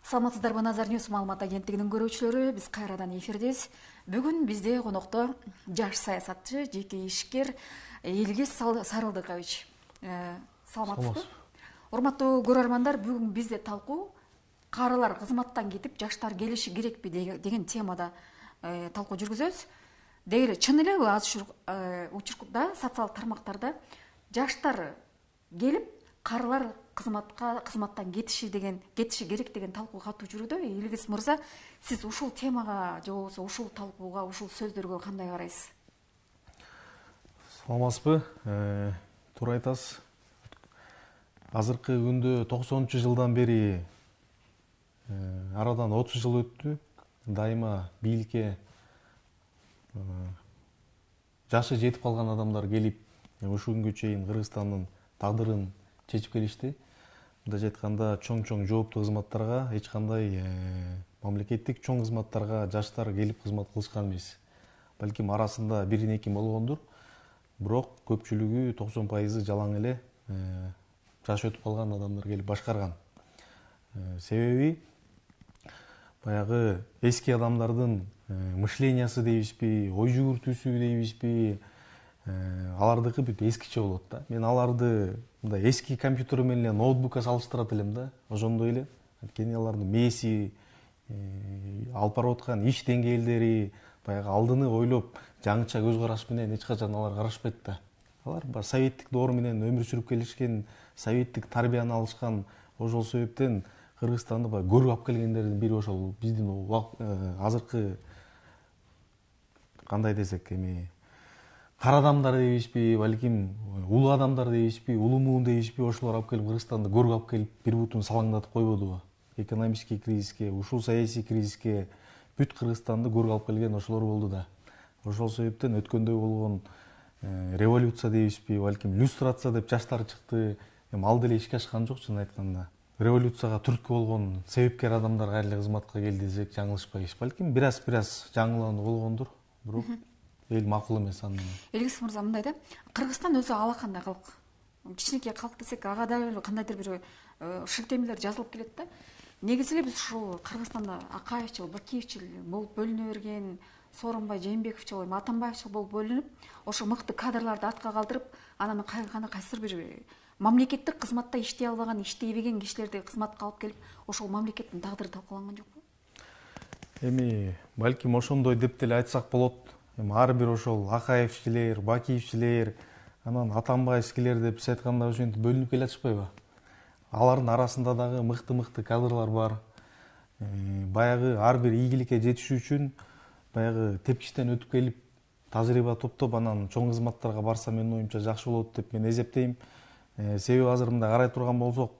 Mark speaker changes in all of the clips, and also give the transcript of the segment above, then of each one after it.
Speaker 1: Саламатсыздарбы, Назар Ньюс маалымат агенттигинин көрүүчүлөрү, биз кайрадан эфирдебиз. Бүгүн бизде конокто жаш саясатчы, жеке ишкер Илгиз Сарылдыкович. Саламатсызбы? Урматтуу көрөрмандар, бүгүн бизде талкуу карылар кызматтан кетип, жаштар келиши керекпи деген темада талкуу жүргүзөбүз. Деги эле чын эле аз учурда социалдык тармактарда жаштар келип, карылар кызматтан кетиши керек деген талкуу катуу жүрүүдө. Илгиз мырза, сиз ушул темага же болбосо ушул талкууга, ушул сөздөргө кандай карайсыз?
Speaker 2: Саламатсызбы? Туура айтасыз. Азыркы күндө 90-жылдан бери арадан 30 жыл өттү. Дайыма бийликке жашы жетип калган адамдар келип, ушул күнгө чейин Кыргызстандын тагдырын чечип келишти. Мындайча айтканда, чоң жооптуу кызматтарга, эч кандай мамлекеттик чоң кызматтарга жаштар келип кызмат кылышкан эмес. Балким арасында 1-2 болгондур, бирок көпчүлүгү 90% жалаң эле жашы өтүп калган адамдар келип башкарган. Себеби баягы эски адамдардын мышлениясы дейбизби, ой жүгүртүүсү дейбизби, алардыкы бүт эскиче болот да. Мен аларды мындай эски компьютер менен ноутбукка салыштырат элем да. Ошондой эле. Анткени алардын мээси, алып барып аткан иш деңгээлдери, баягы алдыны ойлоп, жаңыча көз караш менен эч качан алар карашпайт да. Алар советтик доор менен өмүр сүрүп келишкен, советтик тарбияны алышкан. Ошол себептен Кыргызстанды көрүп алып келгендердин бири ошол биздин азыркы кандай десек кара адамдар дейбизби, балким улуу адамдар дейбизби, улуу муун дейбизби, ошолор алып келип Кыргызстанды көрүп алып келип бир бутун салаңдатып койбодубу? Экономический кризиске, ушул саясий кризиске бүт Кыргызстанды көрүп алып келген ошолор болду да. Ошол себептен өткөндө болгон революция дейбизби, балким люстрация деп жаштар чыкты. Ал деле ишке ашкан жок, чын айтканда. Революцияга түрткү болгон себепкер адамдар кайра кызматка келди десек жаңылышпайбыз. Балким бир-аз жаңылануу болгондур, бирок эл макул эмес аны.
Speaker 1: Илгиз мырза, мындай да, Кыргызстан өзү алакандай калк. Кичинекей калк десек, ага дагы кандайдыр бир шилтемелер жазылып келет да. Негизи эле биз ушул Кыргызстанда Акаевчил, Бакиевчил болуп бөлүнө берген, Сооронбай Жээнбековчил, Атамбаевчил болуп бөлүнүп, ошо мыкты кадрларды артка калтырып, анан кайсыр бир мамлекеттик кызматта иштей албаган, иштейбеген кишилерди кызматка алып келип, ошол мамлекеттин тагдыры талкууланган жокпу?
Speaker 2: Балким ошондой деп деле айтсак болот. Ар бир ошол Акаевчилер, Бакиевчилер, анан Атамбаевскилер деп биз айтканда ошентип бөлүнүп келатышпайбы? Алардын арасында дагы мыкты кадрлар бар. Баягы ар бир ийгиликке жетиш үчүн баягы тепкичтен өтүп келип, тажрыйба топтоп, анан чоң кызматтарга барса менин оюмча жакшы болот деп мен эсептейм. Себеби азыр мындай карай турган болсок,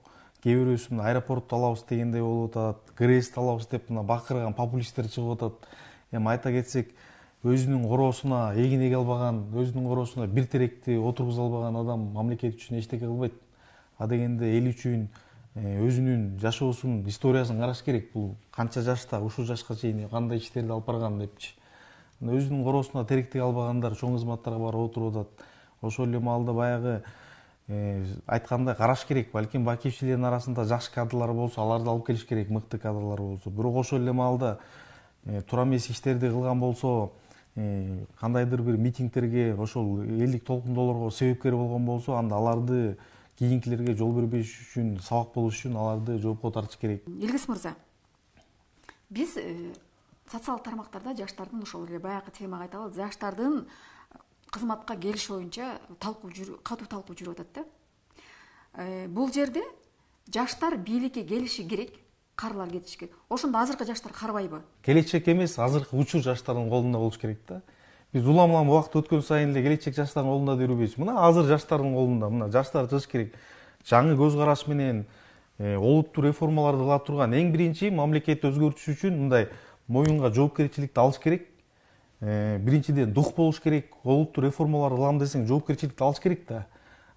Speaker 2: кээ бирөөсү аэропортто алабыз дегендей болуп атат, ГРЭСти алабыз деп бакырган популисттер чыгып атат. Айта кетсек, өзүнүн короосуна эгин эге албаган, өзүнүн короосуна бир теректи отургуза албаган адам мамлекет үчүн эчтеке кылбайт. А дегенде эл үчүн өзүнүн жашоосунун историясын караш керек. Бул канча жашта, ушул жашка чейин кандай иштерди алып барган депчи. Өзүнүн короосуна теректик албагандар чоң кызматтарга барып отуруп атат. Ошол эле маалда баягы айткандай караш керек. Балким Бакиевчилердин арасында жакшы кадрлар болсо, аларды алып келиш керек, мыкты кадрлар болсо. Бирок ошол эле маалда туура эмес иштерди кылган болсо, кандайдыр бир митингтерге, ошол элдик толкундоолорго себепкер болгон болсо, анда аларды кийинкилерге жол бербеш үчүн, сабак болуш үчүн аларды жоопко тартыш керек.
Speaker 1: Илгиз мырза, биз социалдык тармактарда жаштардын ошол эле баягы темага айта алат, жаштардын кызматка келиш боюнча катуу талкуу жүрүп атат да. Бул жерде жаштар бийликке келиши керек, карылар кетиши керек. Ошондо азыркы жаштар карбайбы?
Speaker 2: Келечек эмес, азыркы учур жаштардын колунда болуш керек да. Биз улам убакыт өткөн сайын эле келечек жаштардын колунда деп жүрбөйбүз. Мына азыр жаштардын колунда. Мына жаштар чыгыш керек. Жаңы көз караш менен олуттуу реформаларды кыла турган эң биринчи мамлекетти өзгөртүш үчүн мындай моюнга жоопкерчиликти алыш керек. Биринчиден дух болуш керек. Олуттуу реформаларды кылам десең, жоопкерчиликти алыш керек да.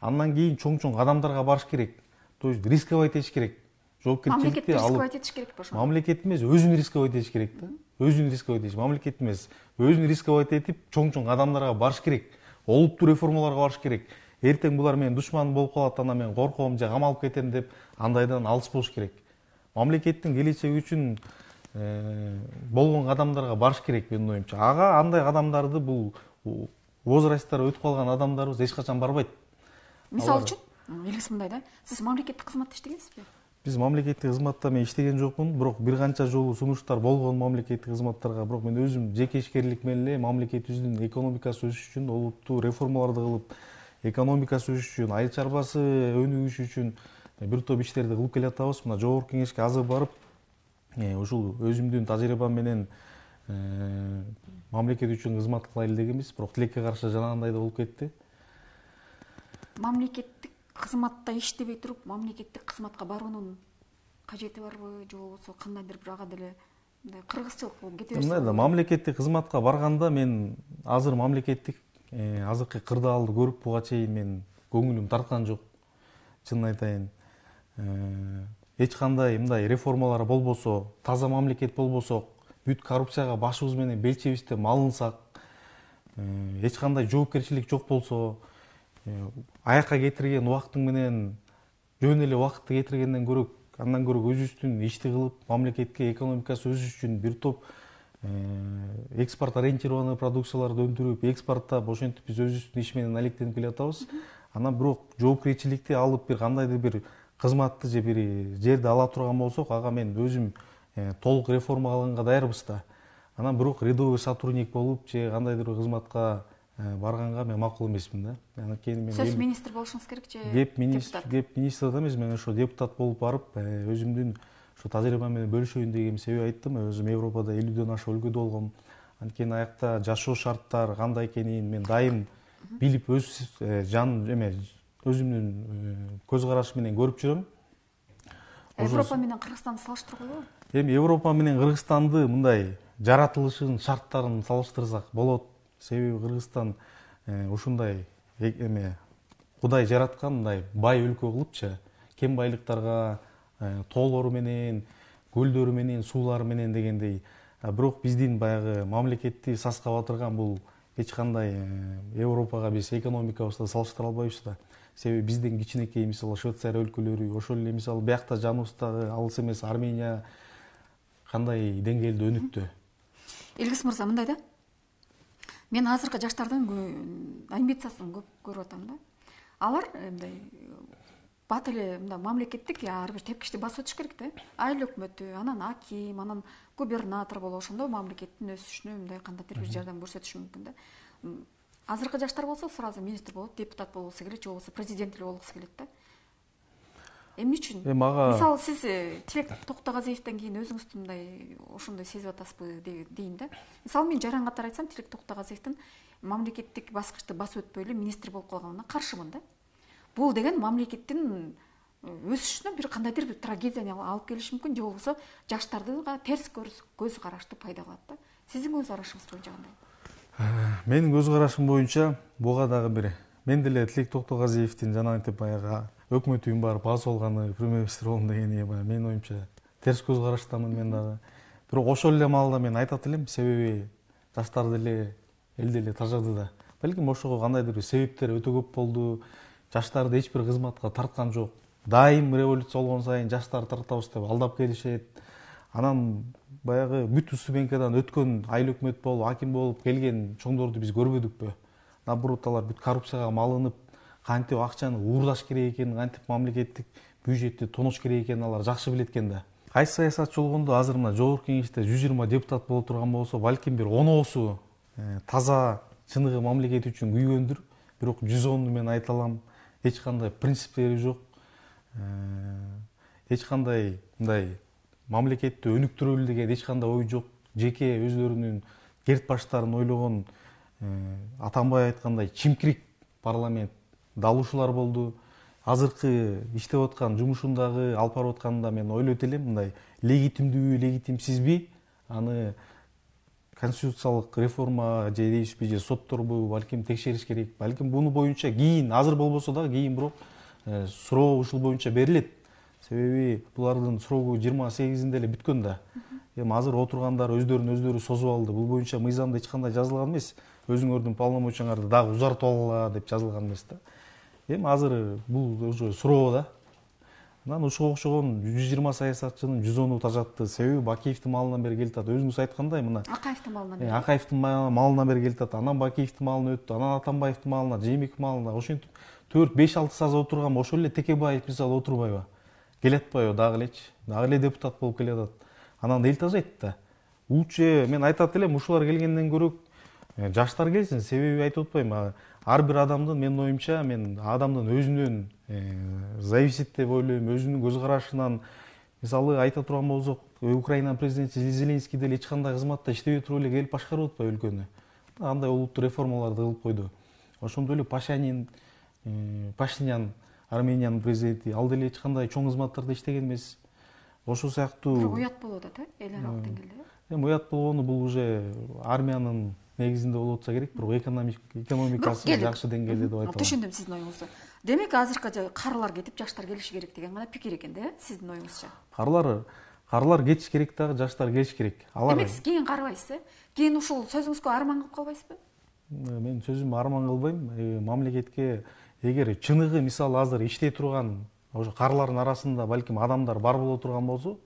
Speaker 2: Андан кийин чоң адамдарга барыш керек. То есть рисковать этиш керек.
Speaker 1: Жоопкерчиликти рисковать этиш керекпи ошо?
Speaker 2: Мамлекет эмес, өзүн рисковать этиш керек да. Өзүн рисковать этиш, мамлекет эмес. Өзүн рисковать этип, чоң адамдарга барыш керек. Олуттуу реформаларга барыш керек. Эртең булар менин душманым болуп калат, анда мен корком же камалып кетем деп андайдан алыс болуш керек. мамлекеттин келечеги үчүн болгон кадамдарга барыш керек менин оюмча. Ага андай кадамдарды бул возрасттары өтүп калган адамдарыбыз эч качан барбайт.
Speaker 1: Мисалы үчүн, элгиси мындай да, сиз мамлекеттик кызматта иштегенсизби?
Speaker 2: Биз мамлекеттик кызматта мен иштеген жокмун, бирок бир канча жолу сунуштар болгон мамлекеттик кызматтарга, бирок мен өзүм жеке ишкерлик менен эле мамлекетибиздин экономикасы өсүш үчүн, олуттуу реформаларды кылып, экономикасы өсүш үчүн, айыл чарбасы өнүгүш үчүн бир топ иштерди кылып келатабыз. Мына жогорку кеңешке азыр барып, ушул өзүмдүн тажрыйбам менен мамлекет үчүн кызмат кылайлы дегенбиз, бирок тилекке каршы жанагындай да болуп кетти.
Speaker 1: Мамлекеттик кызматта иштебей туруп, мамлекеттик кызматка баруунун кажети барбы, же болбосо кандайдыр бир ага деле мындай кыргызчылык болуп кете берсе?
Speaker 2: Мындай да, мамлекеттик кызматка барганда мен азыр мамлекеттик азыркы кырдаалды көрүп буга чейин мен көңүлүм тарткан жок. Чынын айтайын. Эч кандай мындай реформалар болбосо, таза мамлекет болбосок, бүт коррупцияга башыбыз менен белчебизден малынсак, эч кандай жоопкерчилик жок болсо, аякка кетирген убактың менен жөн эле убакытты кетиргенден көрө, андан көрө өзүбүздүн ишти кылып, мамлекетке экономикасы өсүш үчүн бир топ экспорт ориентированный продукцияларды өндүрүп, экспортто ошентип биз өзүбүздүн иш менен алектенип келатабыз. Анан бирок жоопкерчиликти алып бир кандайдыр бир кызматты же бир жерди ала турган болсок, ага мен өзүм толук реформа кылганга даярбыз да. Анан бирок рядовой сотрудник болуп же кандайдыр бир кызматка барганга мен макул эмесмин да. Анан мен
Speaker 1: сөз министр болушуңуз керек же
Speaker 2: кеп министрде эмес, мен ошо депутат болуп барып, өзүмдүн ошо тажрыйбам менен бөлүшөйүн деген себеп айттым. Өзүм Европада 50дөн ашык өлкөдө болгом. Анткени аякта жашоо шарттары кандай экенин мен дайым билип, өз өзүмдүн көз карашым менен көрүп жүрөм.
Speaker 1: Европа менен Кыргызстанды салыштыргыла?
Speaker 2: Эми Европа менен Кыргызстанды мындай жаратылышынын шарттарын салыштырсак болот. Себеби Кыргызстан ушундай Кудай жараткан мындай бай өлкө кылыпчы, кен байлыктарга, тоолору менен, көлдөрү менен, суулары менен дегендей. Бирок биздин баягы мамлекетти саска батырган бул эч кандай Европага биз экономикабызды салыштыра албайбыз да. Себеби бизден кичинекей, мисалы Швейцария өлкөлөрү, ошол эле мисалы биякта жаныбыздагы алыс эмес Армения кандай деңгээлде өнүктү.
Speaker 1: Илгиз мырза, мындай да, мен азыркы жаштардын амбициясын көп көрүп атам да. Алар мындай бат эле мындай мамлекеттик ар бир тепкичти басып өтүш керек да. Айыл өкмөтү, анан аким, анан губернатор болуп ошондо мамлекеттин өсүшүнө мындай кандайдыр бир жардам көрсөтүш мүмкүн да. Азыркы жаштар болсо сразу министр болуп, депутат болгусу келет, же болбосо президент эле болгусу келет да. Эмне үчүн? Мисалы сиз Тилек Токтогазиевден кийин өзүңүздү мындай ошондой сезип атасызбы дейин да. Мисалы мен жаран катары айтсам, Тилек Токтогазиевдин мамлекеттик баскычты басып өтпөй эле министр болуп калганына каршымын да. Бул деген мамлекеттин өсүшүнө бир кандайдыр бир трагедияны алып келиши мүмкүн, же болбосо жаштарга терс көз карашты пайда кылат да. Сиздин көз карашыңыз боюнча кандай?
Speaker 2: Менин көз карашым боюнча буга дагы бир мен деле Тилек Токтогазиевдин жанагынтип баягы өкмөтүн барып аз болгону премьер-министр болом дегени менин оюмча терс көз караштамын мен дагы. Бирок ошол эле маалда мен айтат элем, себеби жаштар деле эл деле тажады да. Балким ошого кандайдыр бир себептер өтө көп болду. Жаштарды эч бир кызматка тарткан жок. Дайым революция болгон сайын жаштарды тартабыз деп алдап келишет. Анан баягы бүт Устубенкадан өткөн айыл өкмөт болуп, аким болуп келген чоңдорду биз көрбөдүкпү? Наоборот, алар бүт коррупцияга малынып, кантип акчаны уурдаш керек экенин, кантип мамлекеттик бюджетти тонош керек экенин алар жакшы билет экен да. Кайсы саясатчы болгондо азыр мына жогорку кеңеште 120 депутат боло турган болсо, балким бир 10оосу таза чыныгы мамлекет үчүн күйгөндүр. Бирок 110 мен айта алам, эч кандай принциптери жок. Эч кандай мындай мамлекетти өнүктүрөлү деген эч кандай ой жок. Жеке өздөрүнүн керт баштарын ойлогон, Атамбай айткандай чимкирик парламент далушулар болду. Азыркы иштеп аткан жумушундагы алып барып атканда мен ойлойт элем, мындай легитимдүүбү, легитимсизби, аны конституциялык реформа же дейбизби, же сотторбу балким текшериш керек. Балким буну боюнча кийин, азыр болбосо дагы кийин бирок суроо ушул боюнча берилет. Себеби булардын срогу 28-inde эле бүткөн да. Эми азыр отургандар өздөрүн созуп алды. Бул боюнча мыйзамда эч кандай жазылган эмес. Өзүңөрдүн полномочияңарды дагы узартып алгыла деп жазылган эмес да. Эми азыр бул уже суроо да. Анан ушуга окшогон 120 саясатчынын 110у тажатты. Себеби Бакиевдин малынан бери келип атат. Өзүңүз айткандай мына
Speaker 1: Акаевдин малынан бери.
Speaker 2: Акаевдин малынан бери келип атат. Анан Бакиевдин малына өттү. Анан Атамбаевдин малына, Жээнбековдин малына. Ошентип 4-5-6 саз отурган ошол эле Текебаев мисалы отурбайбы? Келатпайбы дагы элечи? Дагы эле депутат болуп келатат. Анан эл тажайт да. Лучше мен айтат элем, ушулар келгенден көрө жаштар келсин. Себеби айтып атпайбы? Ар бир адамдын менин оюмча, мен адамдын өзүнөн зависит деп ойлойм, өзүнүн көз карашынан. Мисалы айта турган болсок, Украинанын президенти Зеленский деле эч кандай кызматта иштебей туруп эле келип башкарып атпайбы өлкөнү. Андай улуттуу реформаларды кылып койду. Ошондой эле Пашинян, Армениянын президенти, ал деле эч кандай чоң кызматтарда иштеген эмес. Ошол сыяктуу
Speaker 1: Бирок уят болуп атат, эл аралык деңгээлде.
Speaker 2: Эми уят болгону бул уже армиянын негизинде болуп атса керек, бирок экономикасы жакшы деңгээлде деп айта алам.
Speaker 1: Түшүндүм сиздин оюңузду. Демек азыркы карылар кетип жаштар келиши керек деген гана пикир экен да, сиздин оюңузча.
Speaker 2: Карылар кетиш керек дагы, жаштар келиш керек.
Speaker 1: Демек сиз кийин карабайсыз, кийин ушул сөзүңүзгө арман кылып калбайсызбы?
Speaker 2: Мен сөзүмө арман кылбайм. Мамлекетке эгер чыныгы мисалы азыр иштей турган ошо карылардын арасында балким адамдар бар боло турган болсо,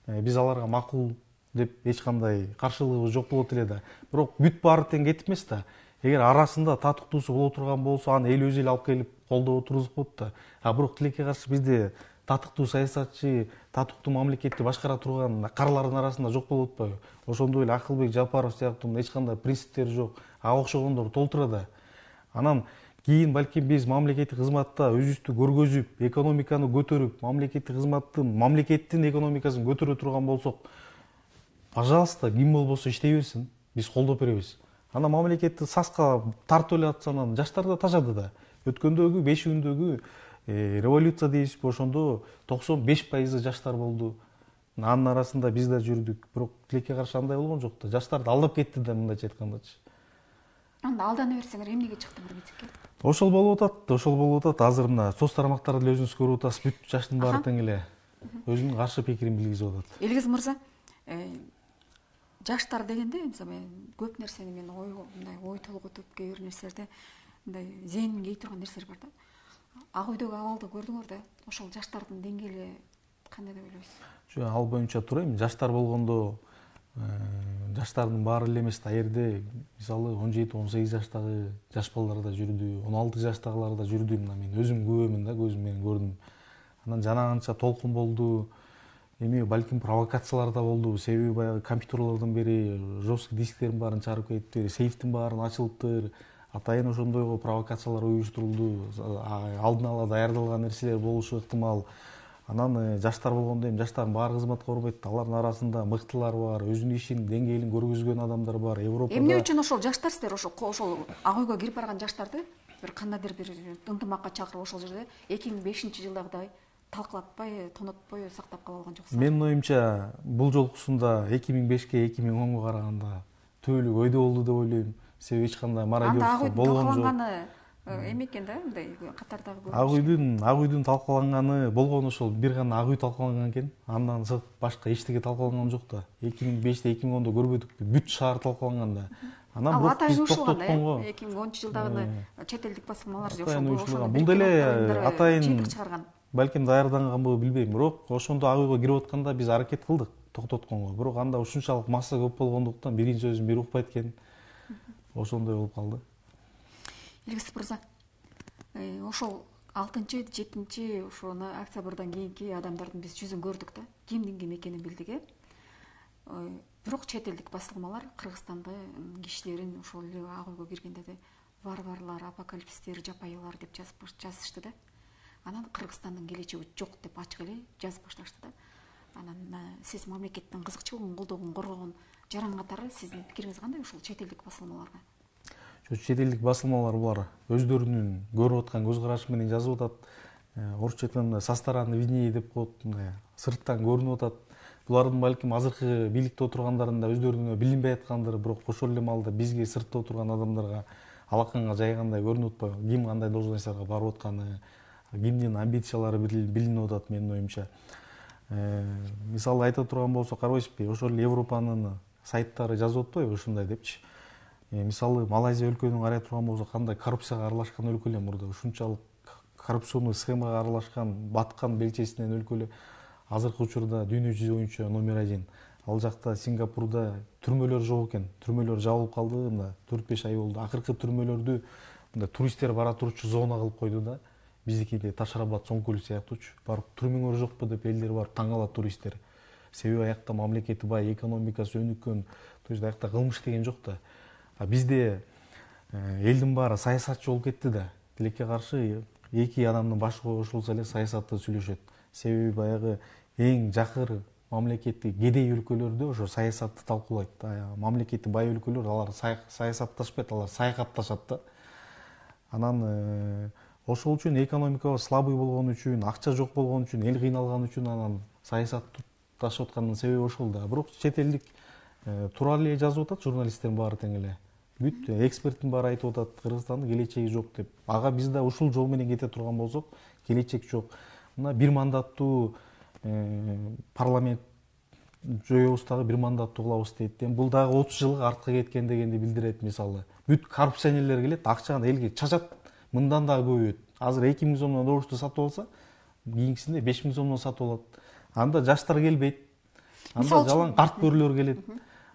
Speaker 2: биз аларга макул деп эч кандай каршылыгыбыз жок болот эле да. Бирок бүт баары тең кетип эмес да. Эгер арасында татыктуусу боло турган болсо, аны эл өзү эле алып келип колдоп отургузуп болот да. Бирок тилекке каршы бизде татыктуу саясатчы, татыктуу мамлекетти башкара турган карылардын арасында жок болуп атпайбы? Ошондой эле Акылбек Жапаров сыяктуу эч кандай принциптери жок, ага окшогондор толтура да. Анан кийин балким биз мамлекеттик кызматта өзүбүздү көргөзүп, экономиканы көтөрүп, мамлекеттин экономикасын көтөрө турган болсок, пожалуйста, ким болбосо иштей берсин, биз колдоп беребиз. Анан мамлекетти саска тартып эле атса, анан жаштар да тажады да. Өткөндөгү 5 күндөгү революция дейсизби, ошондо 95% жаштар болду. Анын арасында биз да жүрдүк, бирок тилекке каршы андай болгон жок да. Жаштарды алдап кетти да, мындайча айткандачы.
Speaker 1: Анда алдана берсеңер эмнеге чыктыңар митингге?
Speaker 2: Ошол болуп атат. Азыр мына соц тармактарда эле өзүңүз көрүп атасыз, бүт жаштын баары тең эле өзүнүн каршы пикирин билгизип атат.
Speaker 1: Элгиз мырза, жаштар дегенде мисалы көп нерсени мен ой толготуп, кээ бир нерселерде мындай зээнимге ий турган нерселер бар да. Ак үйдөгү абалды көрдүңөр да, ошол жаштардын деңгээли кандай деп ойлойсуз?
Speaker 2: Жок, ал боюнча турайм. Жаштар болгондо жаштардын баары эле эмес да, жерде мисалы 17-18 жаштагы жаш балдар да жүрдү, 16 жаштагылар да жүрдү. Мына мен өзүм күбөмүн да, көзүм менен көрдүм. Анан жанагынча толкун болду. Эми балким провокациялар да болду. Себеби баягы компьютерлордон бери жесткий дисктердин баарын чыгарып кетиптир, сейфтин баарын ачылыптыр. Атайын ошондойго провокациялар уюштурулду. Алдын ала даярдалган нерселер болушу ыктымал. Анан жаштар болгондо эми жаштардын баары кызматка барбайт. Алардын арасында мыктылар бар, өзүнүн ишинин деңгээлин көргөзгөн адамдар бар. Европада
Speaker 1: эмне үчүн ошол жаштар сиздер ошол ак үйгө кирип барган жаштарды бир кандайдыр бир ынтымакка чакырып ошол жерде 2005-жылдагыдай талкалатпай, тонотпой сактап кала алган жоксуздар? Менин
Speaker 2: оюмча бул жолкусунда 2005-ке 2010-го караганда түбөлүк өйдө болду деп ойлойм. Себеби эч кандай мародерство болгон жок.
Speaker 1: Эме экен да, мындай катардагы
Speaker 2: көрүнүш. Ак үйдүн талкаланганы болгону ошол бир гана ак үй талкаланган экен. Андан сырт башка эчтеке талкаланган жок да. 2005-те 2010-до көрбөдүкпү? Бүт шаар талкаланган да. Анан бирок биз токтотконго
Speaker 1: 2010-жылдагы чет элдик басылмалар же
Speaker 2: ошол бул деле атайын балким даярданганбы билбейм, бирок ошондо ак үйгө кирип атканда биз аракет кылдык токтотконго. Бирок анда ушунчалык масса көп болгондуктан биринин сөзүн бири укпайт экен. Ошондой болуп калды.
Speaker 1: Элгиз мырза, ошол 6-7 ошону октябрдан кийинки адамдардын биз жүзүн көрдүк да, кимдин ким экенин билдик. Бирок чет элдик басылмалар Кыргызстандын кишилерин ошол эле ак үйгө киргенде варварлар, апокалипсистер, жапайылар деп жазышты да. Анан Кыргызстандын келечеги жок деп ачык эле жазып башташты да. Анан сиз мамлекеттин кызыкчылыгын, колдогун, коргогон жаран катары сиздин пикириңиз кандай ушул чет элдик басылмаларга?
Speaker 2: Чет элдик басылмалар булар өздөрүнүн көрүп аткан көз карашы менен жазып атат. Орусча айтканда со стороны виднее деп коет, сырттан көрүнүп атат. Булардын балким азыркы бийликте отургандардын да өздөрүнө билинбей аткандыр, бирок ошол эле маалда бизге сыртта отурган адамдарга алаканга жайгандай көрүнүп атпайбы? Ким кандай должностьтарга барып атканы, кимдин амбициялары билинип атат менин оюмча. Мисалы айта турган болсок, карабайсызбы, ошол эле Европанын сайттары жазып атпайбы ушундай депчи. Мисалы Малайзия өлкөнүн карай турган болсок, кандай коррупцияга аралашкан өлкө эле мурда, ушунчалык коррупционный схемага аралашкан, баткан белчесинен өлкө эле азыркы учурда дүйнө жүзү боюнча номер 1. Ал жакта Сингапурда түрмөлөр жок экен. Түрмөлөр жабылып калды, мында 4-5 ай болду. Акыркы түрмөлөрдү мында туристтер бара турчу зона кылып койду да. Биздикиде Ташрабат, Соңкөл сыяктуучу. Барып түрмөңөр жокпу деп элдер барып таң калат туристтер. Себеби аякта мамлекети бай, экономикасы өнүккөн. То есть аякта кылмыш деген жок да. А бизде элдин баары саясатчы болуп кетти да. Тилекке каршы эки адамдын башы кошулса эле саясатты сүйлөшөт. Себеби баягы эң жакыр мамлекети кедей өлкөлөрдө ошо саясатты талкуулайт. Мамлекети бай өлкөлөр алар саясатташпайт, алар саякатташат да. Анан ошол үчүн экономикабыз слабый болгон үчүн, акча жок болгон үчүн, эл кыйналган үчүн анан саясатты ташып аткандын себеби ошол да. Бирок чет элдик туура эле жазып атат журналисттердин баары тең эле. Бүт эксперттин баары айтып атат, Кыргызстандын келечеги жок деп. Ага биз да ушул жол менен кете турган болсок, келечек жок. Мына бир мандаттуу парламент жоебуз дагы бир мандаттуу кылабыз дейт. Бул дагы 30 жылга артка кеткен дегенди билдирет мисалы. Бүт коррупционерлер келет, акчаны элге чачат, мындан дагы көбөйөт. Азыр 2000 сомдон добушту сатып алса, кийинкисинде 5000 сомдон сатып алат. Анда жаштар келбейт. Анда жалаң карт бөрөлөр келет.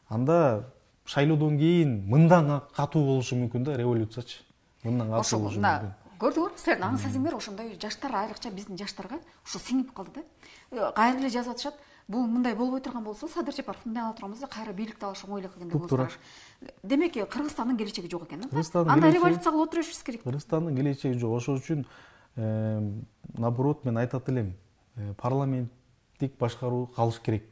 Speaker 2: Анда шайлоодон кийин мындан катуу болушу мүмкүн да, революциячы. Мындан катуу болушу мүмкүн.
Speaker 1: Көрдүңөр, силердин аң сезимдер ошондой жаштар, айрыкча биздин жаштарга ушу сиңип калды да. Кайра эле жазып атышат. Бул мындай болбой турган болсо, Садыр Жапаров мындай ала турган болсо, кайра бийликти алыш оңой элек экен деп ойлойм. Демек, Кыргызстандын келечеги жок экен да. Анда революция кылып отурушубуз керек.
Speaker 2: Кыргызстандын келечеги жок. Ошол үчүн наоборот мен айтат элем, парламенттик башкаруу калыш керек.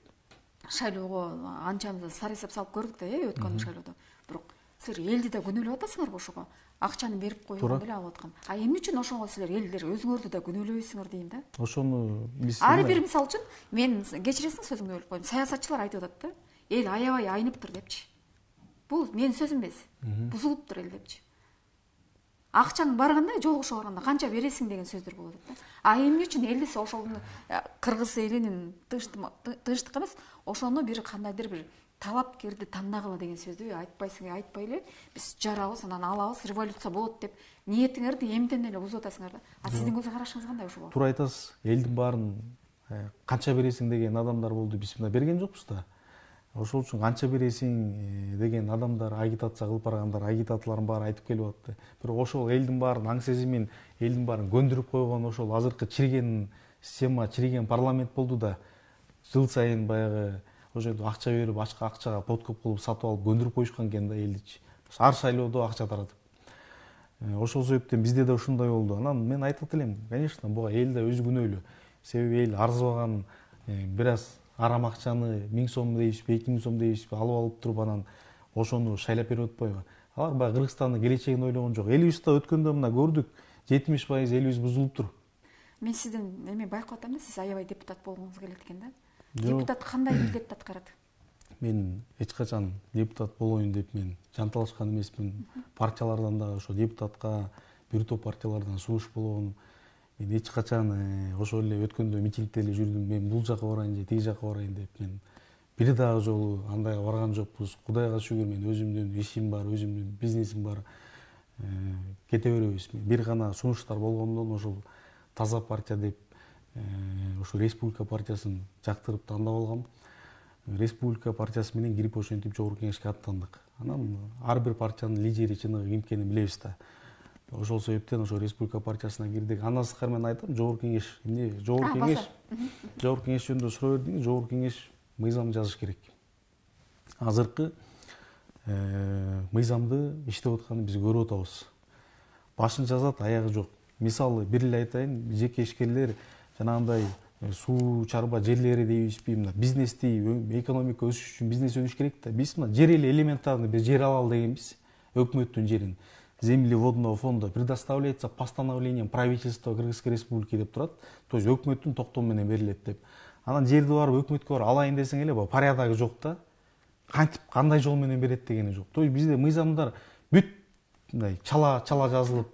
Speaker 1: Шайлоого анчамыз сар эсеп салып көрдүк да, өткөн шайлоодо. Бирок силер элди да күнөөлөп атасыңарбы ошого? Акчаны берип койгондо эле алып аткан. А эмне үчүн ошого силер элдер өзүңөрдү да күнөөлөбөйсүңөр дейм да.
Speaker 2: Ошону биз
Speaker 1: ар бир мисал үчүн мен кечиресиң сөзүңдү бөлүп коем. Саясатчылар айтып атат да. Эл аябай айныптыр депчи. Бул менин сөзүм эмес. Бузулуптур эл депчи. Акчаң барганда, жолугушууга барганда канча бересиң деген сөздөр болот да. А эмне үчүн элди ошону кыргыз элинин тынчтык эмес, ошону бир кандайдыр бир талапкерди тандагыла деген сөздү айтпайсың, айтпай эле биз жарабыз, анан алабыз, революция болот деп ниетиңерди эмден эле бузуп атасыңар да. А сиздин көз карашыңыз кандай ошого?
Speaker 2: Туура айтасыз. Элдин баарын канча бересиң деген адамдар болду, биз мына берген жокпуз да. Ошол үчүн канча бересиң деген адамдар, агитация кылып баргандар, агитаторлордун баары айтып келип атты. Бирок ошол элдин баарын аң сезимин, элдин баарын көндүрүп койгон ошол азыркы чириген система, чириген парламент болду да. Жыл сайын баягы ошентип акча берип, акчага подкуп кылып сатып алып көндүрүп коюшкан экен да элдичи. Ар шайлоодо акча таратып. Ошол себептен бизде да ушундай болду. Анан мен айтат элем, конечно, буга эл да өзү күнөөлүү. Себеби эл арзыбаган бир аз арам акчаны 1000 сом дейбизби, 2000 сом дейбизби алып туруп анан ошону шайлап берип атпайбы? Алар баягы Кыргызстандын келечегин ойлогон жок. Элибизде өткөндө мына көрдүк, 70% элибиз бузулуптур.
Speaker 1: Мен сизден эме байкап атам да, сиз аябай депутат болгоңуз келет экен да. Депутат кандай милдетти аткарат?
Speaker 2: Мен эч качан депутат болоюн деп мен жанталашкан эмесмин. Партиялардан да ошо депутатка бир топ партиялардан сунуш болгон. Мен эч качан ошол эле өткөндө митингде эле жүрдүм. Мен бул жака барайын же тиги жака барайын деп мен бир дагы жолу андайга барган жокпуз. Кудайга шүгүр, мен өзүмдүн ишим бар, өзүмдүн бизнесим бар. Кете беребиз. Бир гана сунуштар болгондон ошол таза партия деп ошо Республика партиясын жактырып тандап алгам. Республика партиясы менен кирип ошентип жогорку кеңешке аттандык. Анан ар бир партиянын лидери чыныгы ким экенин билебиз да. Ошол себептен ошо Республика партиясына кирдик. Андан сырткары мен айтам, жогорку кеңеш, эмне жогорку кеңеш жөнүндө суроо бердиңиз, жогорку кеңеш мыйзам жазыш керек. Азыркы мыйзамды иштеп атканын биз көрүп атабыз. Башын жазат, аягы жок. Мисалы бир эле айтайын, жеке ишкерлер жанагындай суу чарба жерлери дейбизби, мына бизнести, экономика өсүш үчүн бизнес өнүш керек да. Биз мына жер эле элементарный бир жер алалы дегенбиз. Өкмөттүн жерин. Земли водного фонда предоставляется постановлением правительства Кыргызской Республики деп турат. То есть өкмөттүн токтому менен берилет деп. Анан жерди барып өкмөткө барып алайын десең эле порядогу жок да. Кантип кандай жол менен берет дегени жок. То есть бизде мыйзамдар бүт мындай чала жазылып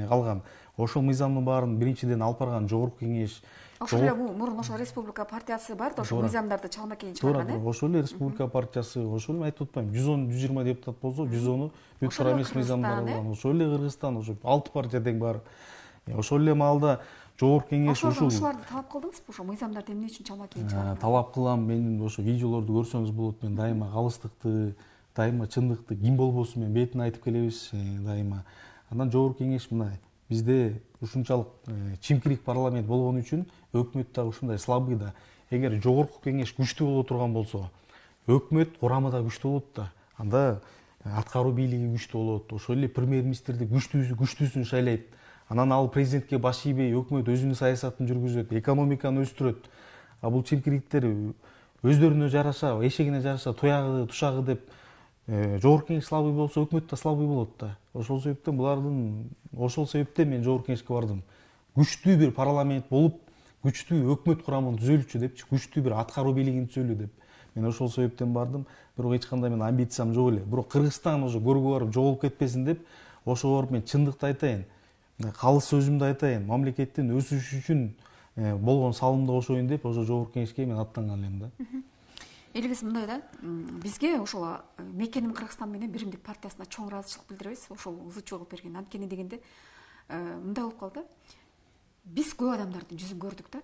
Speaker 2: калган. Ошол мыйзамдын баарын биринчиден алып барган жогорку кеңеш.
Speaker 1: Ошол эле мурун ошо Республика партиясы бар да, ошол мыйзамдарды чалма кийин чыгарган.
Speaker 2: Ошол эле Республика партиясы, ошол эле айтып атпаймынбы, 110-120 депутат болсо, 110-у бүт туура эмес мыйзамдар болгон. Ошол эле Кыргызстан, ошо 6 партия тең бар. Ошол эле маалда жогорку кеңеш
Speaker 1: ушуларды талап кылдыңызбы? Ошо мыйзамдарды эмне үчүн чама кийин чыгардыңыз?
Speaker 2: Талап кылам. Менин ошо видеолорду көрсөңүз болот. Мен дайыма калыстыкты, дайыма чындыкты ким болбосун мен бетине айтып келебиз дайыма. Андан жогорку кеңеш мына бизде ушунчалык чимкирик парламент болгон үчүн өкмөт дагы ушундай слабый да. Эгер жогорку кеңеш күчтүү боло турган болсо, өкмөт курамы да күчтүү болот да. Анда аткаруу бийлиги күчтүү болот. Ошол эле премьер-министрди күчтүүсүн шайлайт. Анан ал президентке баш ийбей өкмөт өзүнүн саясатын жүргүзөт, экономиканы өстүрөт. А бул чимкириктер өздөрүнө жараша, эшегине жараша туягы, тушагы деп жогорку кеңеш слабый болсо, өкмөт да слабый болот да. Ошол себептен мен жогорку кеңешке бардым. Күчтүү бир парламент болуп, күчтүү өкмөт курамын түзөлүчү депчи, күчтүү бир аткаруу бийлигин түзөлүү деп. Мен ошол себептен бардым. Бирок эч кандай мен амбициям жок эле. Бирок Кыргызстан ошо көргө барып жоголуп кетпесин деп, ошо барып мен чындыкты айтайын. Калыс сөзүмдү айтайын, мамлекеттин өсүшү үчүн болгон салымды кошоюн деп ошо жогорку кеңешке мен аттанган элем да.
Speaker 1: Элибиз мындай да, бизге ошол Мекеним Кыргызстан менен Биримдик партиясына чоң ыраазычылык билдиребиз, ошол ызычуу кылып берген. Анткени дегенде мындай болуп калды. Биз көп адамдардын жүзүн көрдүк да.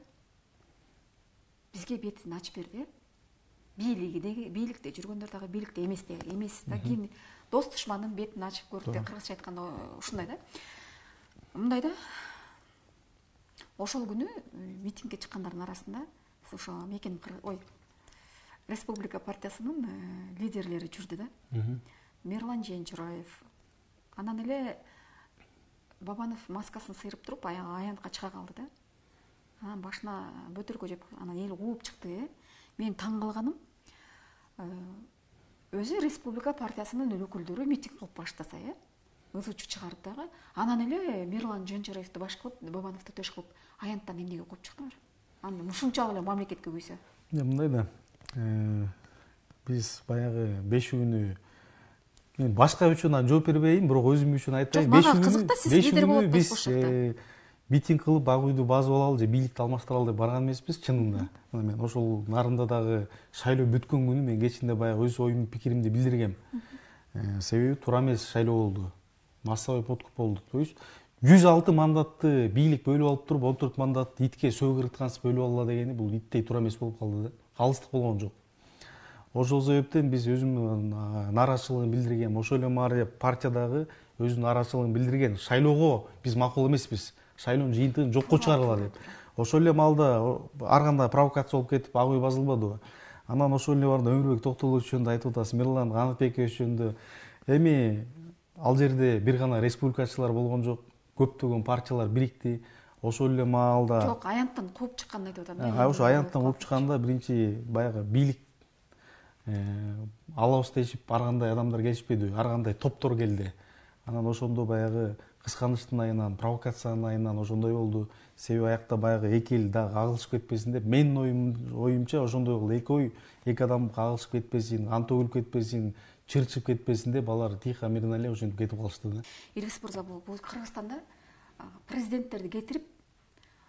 Speaker 1: Бизге бетин ачып берди. Бийликте жүргөндөр дагы бийликте эмес да. Кийин дос душмандын бетин ачып көрдүк деп кыргызча айтканда ушундай да. Мындай да. Ошол күнү митингге чыккандардын арасында ошо Мекеним Республика партиясынын лидерлери жүрдү да. Мирлан Женчураев. Анан эле Бабанов маскасын сыйрып туруп аянтка чыга калды да. Анан башына бөтөлкө жеп, анан эл кууп чыкты. Мен таң калганым, өзү Республика партиясынын өкүлдөрү митинг кылып баштаса, ызычуу чыгарып дагы, анан эле Мирлан Женчураевди баш кылып, Бабановду төш кылып, аянттан эмнеге кууп чыктыңар? Анан ушунчалык эле мамлекетке күйсө.
Speaker 2: Мындай да. Биз баягы 5 күнү мен башка үчүн жооп бербейин, бирок өзүм үчүн айтайын. 5 күнү биз митинг кылып Ак үйдү басып алалы же бийликти алмаштыралы деп барган эмеспиз чынында. Мен ошол нарында дагы шайлоо бүткөн күнү мен кечинде баягы өз оюм, пикиримди билдиргем. Себеби туура эмес шайлоо болду. Массовый подкуп болду. То есть 106 мандатты бийлик бөлүп алып туруп 14 мандатты итке сөгүрткансып бөлүп алла дегени бул иттей туура эмес болуп калды да. Калыстык болгон жок. Ошол себептен биз өзүмдүн нааразычылыгын билдиргем. Ошол эле маары партиядагы өзүнүн нааразычылыгын билдирген. Шайлоого биз макул эмеспиз. Шайлоонун жыйынтыгын жокко чыгаргыла деп. Ошол эле маалда ар кандай провокация болуп кетип Ак үй басылбадыбы? Анан ошол эле барда Өмүрбек Токтогулович жөнүндө айтып атасыз, Мирлан Канатбекович жөнүндө. Эми ал жерде бир гана республикачылар болгон жок, көптөгөн партиялар бирикти. Ошол эле маалда
Speaker 1: жок, аянттан кууп чыккан айтып атам.
Speaker 2: Ошо аянттан кууп чыкканда биринчи баягы бийлик алабыз дешип ар кандай адамдар келишпеди, ар кандай топтор келди. Анан ошондо баягы кысканычтын айынан, провокациянын айынан ошондой болду. Себеби аякта баягы эки эл дагы кагылышып кетпесин деп, менин оюмча ошондой болду. Эки адам кагылышып кетпесин, кан төгүлүп кетпесин, чырчып кетпесин деп алар тихо мирно эле ошентип кетип калышты да.
Speaker 1: Иргиз мырза, бул Кыргызстанда президенттерди кетирип,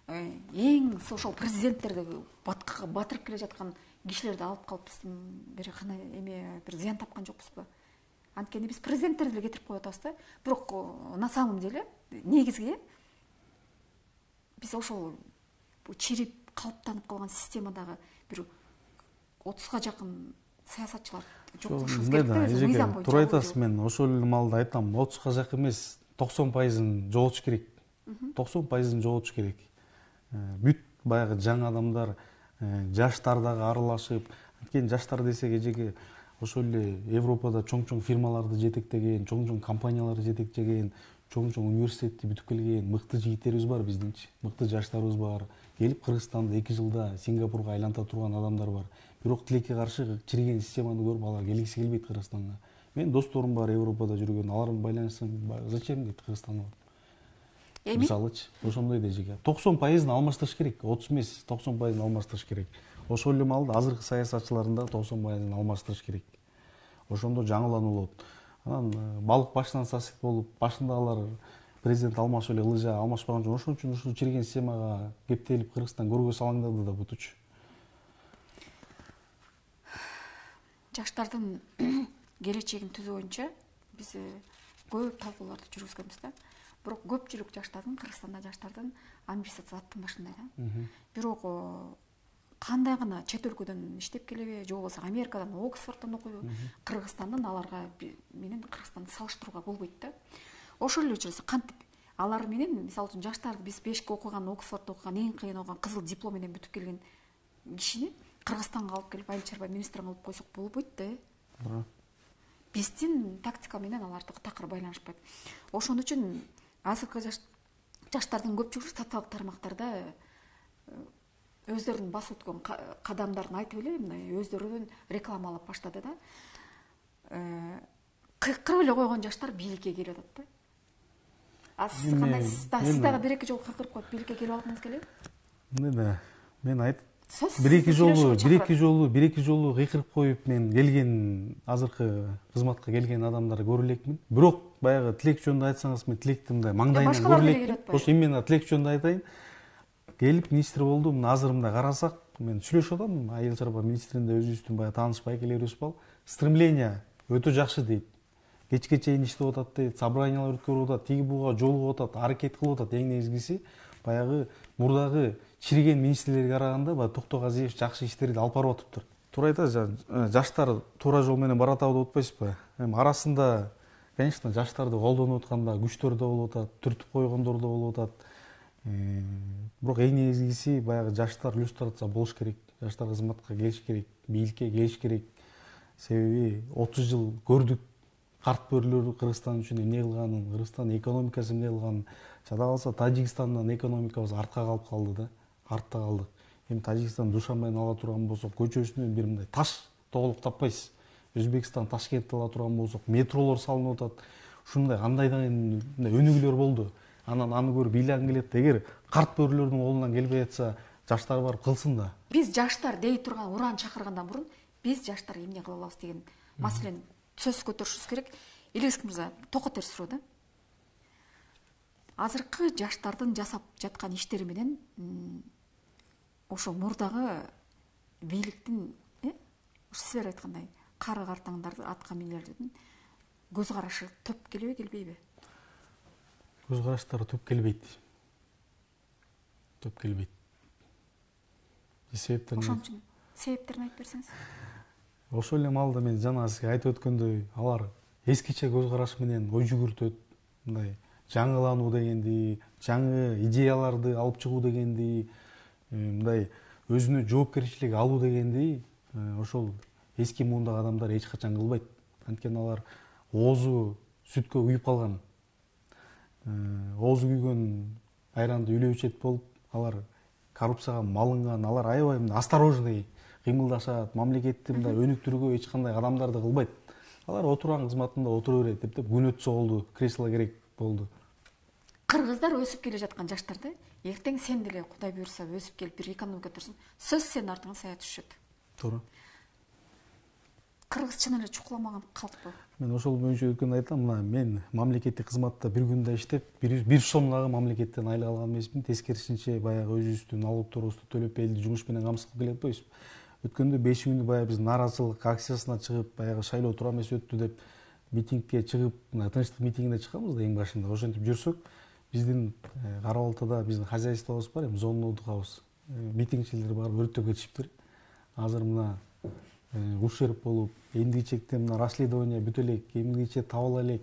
Speaker 1: эң ошол президенттерди баткакка батырып келе жаткан кишилерди алып калып бир кандай бир зыян тапкан жокпузбу? Анткени биз президенттерди эле кетирип коюп атабыз да. Бирок на самом деле негизги биз ошол чирип калыптанып калган системадагы бир 30га жакын саясатчылар жоктошубуз керек да. Мыйзам боюнча.
Speaker 2: Туура айтасыз, мен ошол эле маалда айтам, 30га жакын эмес, 90% жоготуш керек. 90% жоготуш керек. Бүт баягы жаңы адамдар, жаштар дагы аралашып, анткени жаштар десек эжеге ошол эле Европада чоң-чоң фирмаларды жетектеген, чоң-чоң компанияларды жетектеген, чоң-чоң университетти бүтүп келген мыкты жигиттерибиз бар биздинчи, мыкты жаштарыбыз бар. Келип Кыргызстанды 2 жылда Сингапурга айланта турган адамдар бар. Бирок тилекке каршы чириген системаны көрүп алар келгиси келбейт Кыргызстанга. Мен досторум бар Европада жүргөн, алардын байланысын зачем дейт Кыргызстанга. Мисалычы, ошондой да эжеге 90% алмаштырыш керек, 30 эмес, 90% алмаштырыш керек. Ошол эле маалда азыркы саясатчылардын да 90% алмаштырыш керек. Ошондо жаңылануу болот. Анан балык башынан сасык болуп, башындагылар президент алмашып эле ылыжа алмашпаган жок. Ошон үчүн ушул чирген системага кептелип Кыргызстан көргө салаңдады да бутучу.
Speaker 1: Жаштардын келечегин түзүү боюнча биз көп талкууларды жүргүзгөнбүз да. бирок көпчүлүк жаштардын, Кыргызстанда жаштардын амбициясы аттын башында да. Бирок кандай гана чет өлкөдөн иштеп келеби, же болбосо Америкадан, Оксфорддон окуйбу, Кыргызстандын аларга менен Кыргызстанды салыштырууга болбойт да. Ошол эле учурда кантип алар менен, мисалы үчүн жаштарды биз 5 окуган, Оксфорддо окуган, эң кыйын окуган, кызыл диплом менен бүтүп келген кишини Кыргызстанга алып келип айыл чарба министрин кылып койсок болбойт да. Биздин тактика менен аларды такыр байланышпайт. Ошон үчүн азыркы жаштардын көпчүлүгү социалдык тармактарда өздөрүнүн басып өткөн кадамдарын айтып эле мындай өздөрүнүн рекламалап баштады да. Кыйкырып эле койгон жаштар бийликке келип атат да. Сиз кандай, сиз дагы бир-эки жолу кыйкырып коюп бийликке келип алгыңыз келеби?
Speaker 2: Мына мен бир-эки жолу кыйкырып коюп мен келген азыркы кызматка келген адамдарды көрө элекмин. Бирок баягы тилек жөнүндө айтсаңыз, мен тилекти мындай маңдайынан көрө элекмин. Ошо именно тилек жөнүндө айтайын. Келип министр болдум. Мына азыр мындай карасак, мен сүйлөшүп атам, айыл чарба министринде өзүбүздүн баягы тааныш байкелерибиз бар. Стремление өтө жакшы дейт. Кечке чейин иштеп атат дейт, собраниялар өткөрүп атат, тиги буга жолугуп атат, аракет кылып атат. Эң негизгиси баягы мурдагы чириген министрлерге караганда баягы Токтогазиев жакшы иштерди алып барып атыптыр. Туура айтасыз, жаштар туура жол менен баратабы деп атпайсызбы? Эми арасында, конечно, жаштарды колдонуп атканда күчтөр да болуп атат, түртүп койгондор да болуп атат. Бирок эң негизгиси баягы жаштар иллюстрация болуш керек. Жаштар кызматка келиш керек, бийликке келиш керек. Себеби 30 жыл көрдүк карт бөрүлөрдү Кыргызстан үчүн эмне кылганын, Кыргызстандын экономикасы эмне кылганын. Жада калса Тажикстандан экономикабыз артка калып калды да, артта калдык. Эми Тажикстан Душанбени ала турган болсок, көчөсүнөн бир мындай таш тоголук таппайсыз. Өзбекстан Ташкентти ала турган болсок, метролор салынып атат. Ушундай кандайдан өнүгүүлөр болду. Анан аны көрүп ыйлангым келет. Эгер карт бөрүлөрдүн колунан келбей атса, жаштар барып кылсын да.
Speaker 1: Биз жаштар дей турган уран чакыргандан мурун биз жаштар эмне кыла алабыз деген маселени сөз көтөрүшүбүз керек. Илгиз мырза, токотер суроо да. Азыркы жаштардын жасап жаткан иштери менен ошо мурдагы бийликтин, силер айткандай, кары картаңдарды атка минерлердин көз карашы төп келеби, келбейби?
Speaker 2: Көз караштары төп келбейт. Төп келбейт.
Speaker 1: Ошон үчүн себептерин айтып берсеңиз.
Speaker 2: Ошол эле маалда мен жана сизге айтып өткөндөй, алар эскиче көз караш менен ой жүгүртөт, мындай жаңылануу дегенди, жаңы идеяларды алып чыгуу дегенди, мындай өзүнө жоопкерчилик алуу дегенди, ошол эски муундагы адамдар эч качан кылбайт. Анткени алар оозу сүткө күйүп калган. Оозу күйгөн айранды үлөө ичет болуп, алар коррупцияга малынган, алар аябай осторожный кыймылдашат, мамлекетти мындай өнүктүрүүгө эч кандай кадамдарды кылбайт. Алар отурган кызматында отура берет деп күн өтсө болду, кресло керек болду.
Speaker 1: Кыргыздар өсүп келе жаткан жаштарды эртең сен деле Кудай буйрса өсүп келип бир экономика турсун, сөз сенин артыңан сая түшөт.
Speaker 2: Туура.
Speaker 1: Кыргыз чын эле чукуламаган калкпы.
Speaker 2: Мен ошол боюнча өткөндө айтам, мына мен мамлекеттик кызматта бир күндө иштеп, бир сом дагы мамлекеттен айлык алган эмесмин. Тескерисинче баягы өзүбүздүн налогторубузду төлөп элди жумуш менен камсыз кылып келе атпайбызбы? Өткөндө 5 күндү баягы биз нааразычылык акциясына чыгып, баягы шайлоо туура эмес өттү деп митингге чыгып, мына тынчтык митингине чыкканбыз да эң башында. Ошентип жүрсөк, биздин Кара Балтада биздин хозяйствобуз бар, эми зонный отдыхыбыз. Митингчилер барып өрттөп кетишиптир. Азыр мына ушерп болуп, эмгичекте мына расследование бүтө элек, эмгиче табыла элек.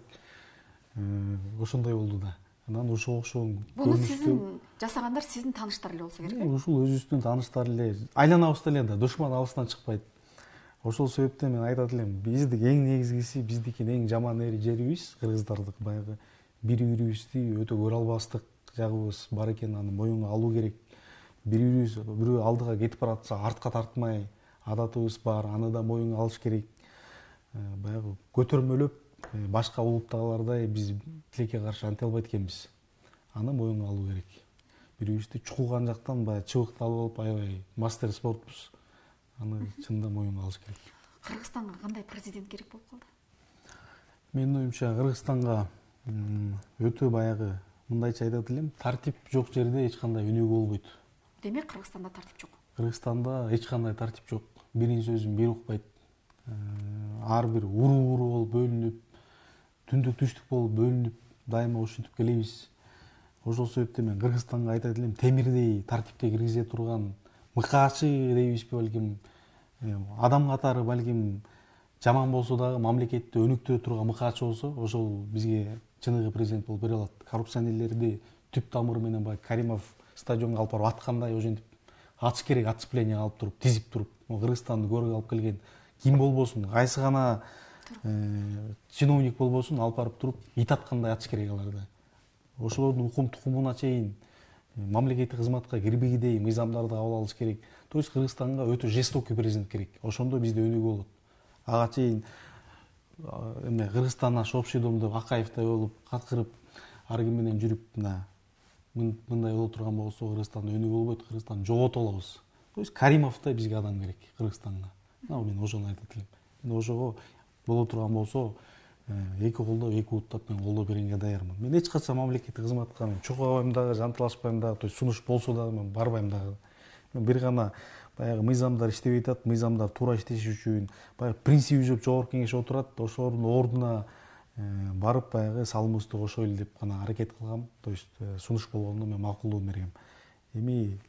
Speaker 2: Ошондой болду да. Анан ушуга окшогон
Speaker 1: буну сиздин жасагандар сиздин тааныштар эле болсо керек.
Speaker 2: Ушул өзүбүздүн тааныштар эле, айланабызда эле да, душман алыстан чыкпайт. Ошол себептен мен айтат элем, биздик эң негизгиси, биздикин эң жаман жерибиз, кыргыздардык баягы бири-бирибизди өтө көрө албастык жагыбыз бар экенин аны моюнга алуу керек. Бири-бирибиз бирөө алдыга кетип баратса артка тартмай, адатыбыз бар, аны да моюнга алыш керек. Баягы көтөрмөлөп, башка улуттагылардай биз тилекке каршы анте албайт экенбиз. Аны моюнга алуу керек. Бири-бирибизди чукулган жактан баягы чыбыкталып алып, аябай мастер спортпуз. Аны чында моюнга алыш керек.
Speaker 1: Кыргызстанга кандай президент керек болуп калды?
Speaker 2: Менин оюмча Кыргызстанга өтө баягы мындайча айтат элем, тартип жок жерде эч кандай өнүгүү болбойт.
Speaker 1: Демек Кыргызстанда тартип жок.
Speaker 2: Кыргызстанда эч кандай тартип жок. Биринин сөзүн бир укпайт. Ар бир уру болуп бөлүнүп, түндүк түштүк болуп бөлүнүп, дайыма ушинтип келебиз. Ошол себептен мен Кыргызстанга айтат элем, темирдей тартипке киргизе турган мыкаачы дейбизби, балким адам катары балким жаман болсо дагы мамлекетти өнүктүрө турган мыкаачы болсо, ошол бизге чыныгы президент болуп бере алат. Коррупционерлерди түп тамыры менен баягы Каримов стадионго алып барып аткандай ошентип атыш керек, отцепление алып туруп, тизип туруп. Кыргызстанды көргө алып келген ким болбосун, кайсы гана чиновник болбосун, алып барып туруп ит аткандай атыш керек аларды. Ошолордун укум тукумуна чейин мамлекеттик кызматка кирбегидей мыйзамдарды кабыл алыш керек. То есть Кыргызстанга өтө жестокий президент керек. Ошондо бизде өнүгүү болот. Ага чейин эме Кыргызстан наш общий домдо Акаевтай болуп, каткырып, ар ким менен жүрүп, мындай боло турган болсо Кыргызстанда өнүгүү болбойт, Кыргызстанды жогото алабыз. То есть Каримовтой бизге адам керек Кыргызстанга. Мен ошону айтат элем. Ошого боло турган болсо, эки колдоп, эки бууттап мен колдоо бергенге даярмын. Мен эч качан мамлекеттик кызматка мен чогабайм дагы, жантылашпайм дагы, то есть сунуш болсо дагы мен барбайм дагы. Мен бир гана баягы мыйзамдар иштебей атат, мыйзамдар туура иштеш үчүн баягы принцип изеп жогорку кеңеш отурат, ошолордун ордуна барып баягы салымыбызды кошойлу деп гана аракет кылгам. То есть сунуш болгондо мен макулдугун бергем. Эми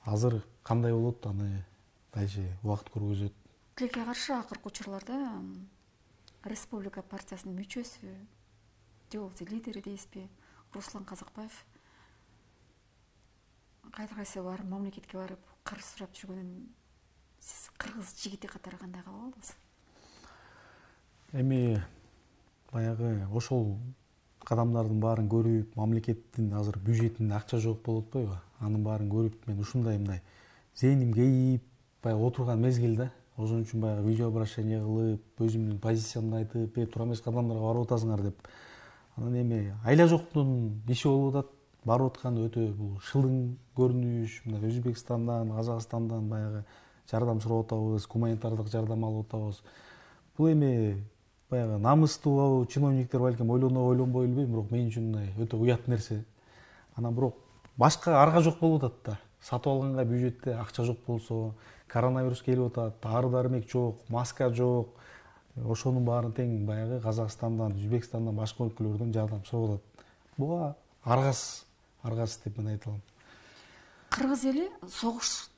Speaker 2: азыр кандай болот, аны дальше убакыт көргөзөт.
Speaker 1: Тилекке каршы акыркы учурларда Республика партиясынын мүчөсү же болбосо лидери дейсизби, Руслан Казакбаев кайсы барып мамлекетке барып карыз сурап жүргөнүн сиз кыргыз жигити катары кандай кабыл алдыңыз?
Speaker 2: Эми баягы ошол кадамдардын баарын көрүп, мамлекеттин азыр бюджетинде акча жок болуп атпайбы? Анын баарын көрүп мен ушундай зээним кейип баягы отурган мезгил да. Ошон үчүн баягы видеообращение кылып, өзүмдүн позициямды айтып, туура эмес кадамдарга барып атасыңар деп. Анан эми айла жоктун иши болуп атат. Барып аткан өтө бул шылдың көрүнүш, мына Өзбекстандан, Казакстандан баягы жардам сурап атабыз, гуманитардык жардам алып атабыз. Бул эми баягы намыстуу чиновниктер балким ойлонбой билбейм, бирок мен үчүн мындай өтө уят нерсе. Анан бирок башка арга жок болуп атат да. Сатып алганга бюджетте акча жок болсо, коронавирус келип атат, ары дармек жок, маска жок. Ошонун баарын тең баягы Казакстандан, Өзбекстандан, башка өлкөлөрдөн жардам сурап атат. Буга аргасыз деп мен айта алам.
Speaker 1: Кыргыз эли согуш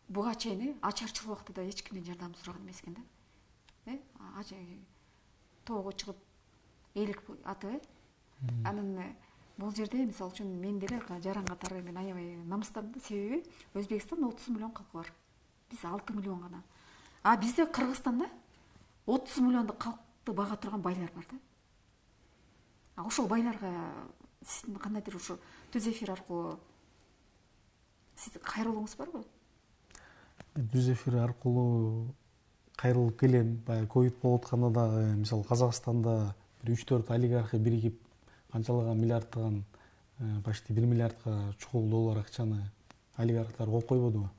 Speaker 1: буга чейин ачарчыл убактыда эч кимден жардам сураган эмес экен да. Тоого чыгып элик атып, анан бул жерде мисалы үчүн мен деле жаран катары мен аябай намыстандым да, себеби Өзбекстан 30 миллион калкы бар. Биз 6 миллион гана. А бизде Кыргызстанда 30 миллиондук калкты бага турган байлар бар да. Ошол байларга сиздин кандайдыр ушу түз эфир аркылуу сиздин кайрылууңуз барбы?
Speaker 2: Түз эфир аркылуу кайрылып келем. Баягы ковид болуп атканда дагы мисалы Казакстанда бир 3-4 олигархи биригип канчалаган миллиардтаган, почти 1 миллиардка чукул доллар акчаны олигархтар коюп койбодубу?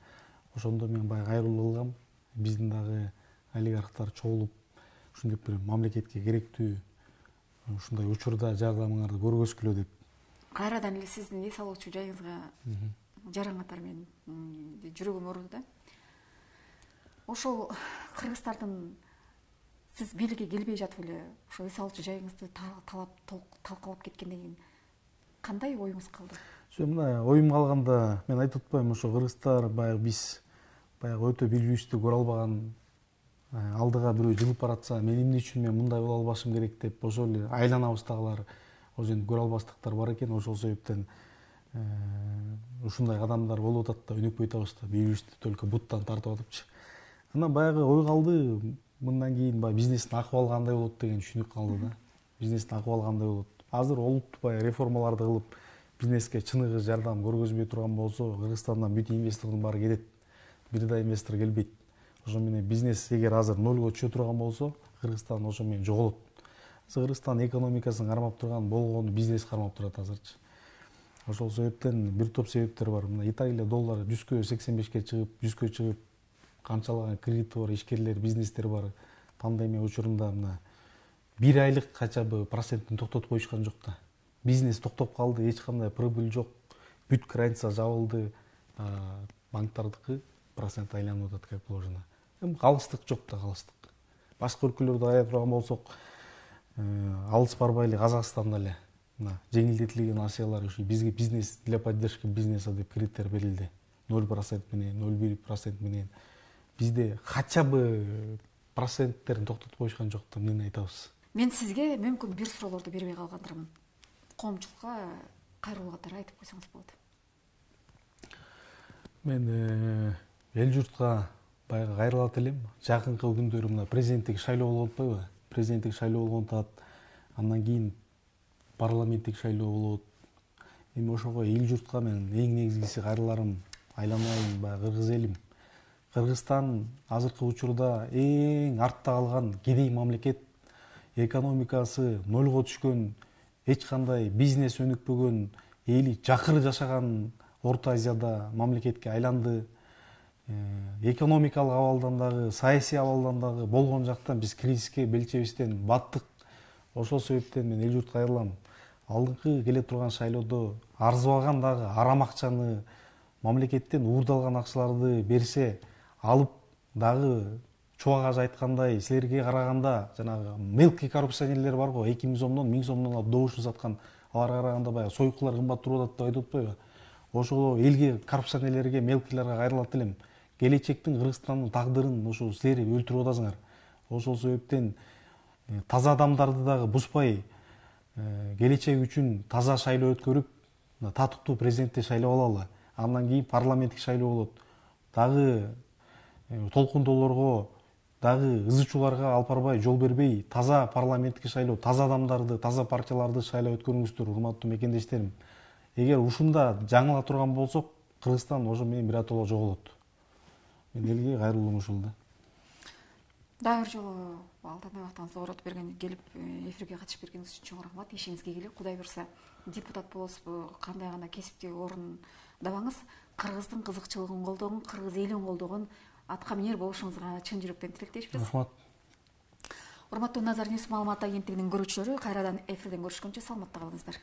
Speaker 2: Ошондо мен баягы кайрылуу кылгам. Биздин дагы олигархтар чогулуп ушинтип бир мамлекетке керектүү ушундай учурда жардамыңарды көргөзгүлө деп.
Speaker 1: Кайрадан эле сиздин эс алуучу жайыңызга жаран катары мен жүрөгүм ооруду да. Ошол кыргыздардын сиз бийликке келбей жатып эле ошол эс алуучу жайыңызды талкалап кеткенден кийин кандай оюңуз калды?
Speaker 2: Мына оюм калганда мен айтып атпаймынбы, ошо кыргыздар баягы биз баягы өтө билүүбүздү көрө албаган, алдыга бирөө жылып баратса, мен эмне үчүн мен мындай боло албашым керек деп ошол эле айланабыздагылар ошентип көрө албастыктар бар экен. Ошол себептен ушундай кадамдар болуп атат да, өнүкпөй атабыз да, бийлүүбүздү только буттан тартып атыпчы. Анан баягы ой калды, мындан кийин баягы бизнестин акыбалы кандай болот деген түшүнүк калды да. Бизнестин акыбалы кандай болот? Азыр олуттуу баягы реформаларды кылып, бизнеске чыныгы жардам көргөзбөй турган болсо, Кыргызстандан бүт инвестордун баары кетет. Бир да инвестор келбейт. Ошо менен бизнес эгер азыр нолго түшө турган болсо, Кыргызстан ошо менен жоголот. Кыргызстан экономикасын кармап турган болгону бизнес кармап турат азырчы. Ошол себептен бир топ себептер бар. Мына Италия доллары 185-ке чыгып, 100-кө чыгып, канчалаган кредити бар, ишкерлер, бизнестер бар. Пандемия учурунда мына 1 айлык кача бы процентин токтотуп коюшкан жок да. Бизнес токтоп калды, эч кандай прибыль жок. Бүт граница жабылды. Банктардыкы процент айланып атат как положено. Калыстык жок да, калыстык. Башка өлкөлөрдө ая турган болсок, алыс барбай эле Казакстанда эле мына жеңилдетилген акциялар ушу бизге бизнес для поддержки бизнеса деп кредиттер берилди 0% менен 0,1% менен. Бизде хотя бы проценттерин токтотуп коюшкан жок да эмнени айтабыз.
Speaker 1: Мен сизге мүмкүн бир суроолорду бербей калгандырмын. Коомчулукка кайрылуу катары айтып койсоңуз болот.
Speaker 2: Мен эл журтка баягы кайрылат элем. Жакынкы күндөрү мына президенттик шайлоо болуп атпайбы? Президенттик шайлоо болгон атат. Андан кийин парламенттик шайлоо болот. Эми ошого эл журтка мен эң негизгиси кайрыларым айланайын баягы кыргыз элим. Кыргызстан азыркы учурда эң артта калган кедей мамлекет, экономикасы нолго түшкөн, эч кандай бизнес өнүкпөгөн, эли жакыры жашаган Орто Азияда мамлекетке айланды. Экономикалык абалдан дагы, саясий абалдан дагы болгон жактан биз кризиске белчебестен баттык. Ошол себептен мен эл журтка кайрылам. Алдыңкы келе турган шайлоодо арзыбаган дагы арам акчаны, мамлекеттен уурдалган акчаларды берсе, алып дагы чубак ажы айткандай силерге караганда жанагы мелкий коррупционерлер бар го, 2000 сомдон 1000 сомдон алып добушун саткан, аларга караганда баягы сойкулар кымбат туруп атат деп айтып атпайбы? Ошол элге, коррупционерлерге, мелкийлерге кайрылат элем. Келечектин Кыргызстандын тагдырын ошо силер өлтүрүп атасыңар. Ошол себептен таза адамдарды дагы бузбай, келечек үчүн таза шайлоо өткөрүп, татыктуу президентти шайлап алалы. Андан кийин парламенттик шайлоо болот. Дагы толкундоолорго, дагы ызы-чууларга алып барбай, жол бербей, таза парламенттик шайлоо, таза адамдарды, таза партияларды шайлап өткөрүңүздөр, урматтуу мекендештерим. Эгер ушунда жаңыла турган болсок, Кыргызстан ошо менен биротоло жоголот. Мен элге кайрылуум ушул да.
Speaker 1: Дагы бир жолу алтындай убактыңызды коротуп келип эфирге катышып бергениңиз үчүн чоң рахмат. Ишиңизге келе. Кудай буюрса, депутат болосузбу, кандай гана кесиптик орундабаңыз, кыргыздын кызыкчылыгын колдогон, кыргыз элин колдогон атка минер болушуңузга чын жүрөктөн тилектешпиз.
Speaker 2: Рахмат.
Speaker 1: Урматтуу Назар Ньюс маалымат агенттигинин көрүүчүлөрү, кайрадан эфирден көрүшкөнчө саламатта калыңыздар.